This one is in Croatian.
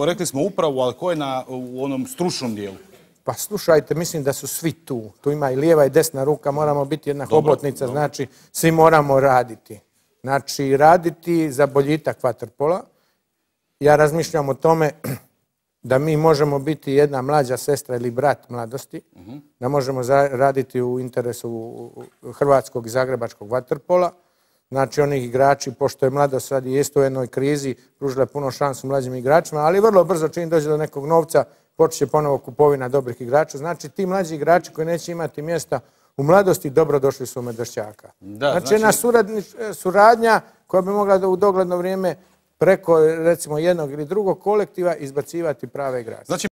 Rekli smo upravo, ali ko je u onom stručnom dijelu? Pa slušajte, mislim da su svi tu. Tu ima i lijeva i desna ruka, moramo biti jedna hobotnica, znači svi moramo raditi. Znači raditi za boljitak vaterpola. Ja razmišljam o tome da mi možemo biti jedna mlađa sestra ili brat mladosti, da možemo raditi u interesu hrvatskog i zagrebačkog vaterpola. Znači onih igrači, pošto je mladost sad i isto u jednoj krizi, pružila puno šansu mlađim igračima, ali vrlo brzo čim dođe do nekog novca, počet će ponovo kupovina dobrih igrača. Znači ti mlađi igrači koji neće imati mjesta u mladosti, dobro došli su u Medvešćaka. Znači jedna suradnja koja bi mogla u dogledno vrijeme preko recimo jednog ili drugog kolektiva izbacivati prave igrače.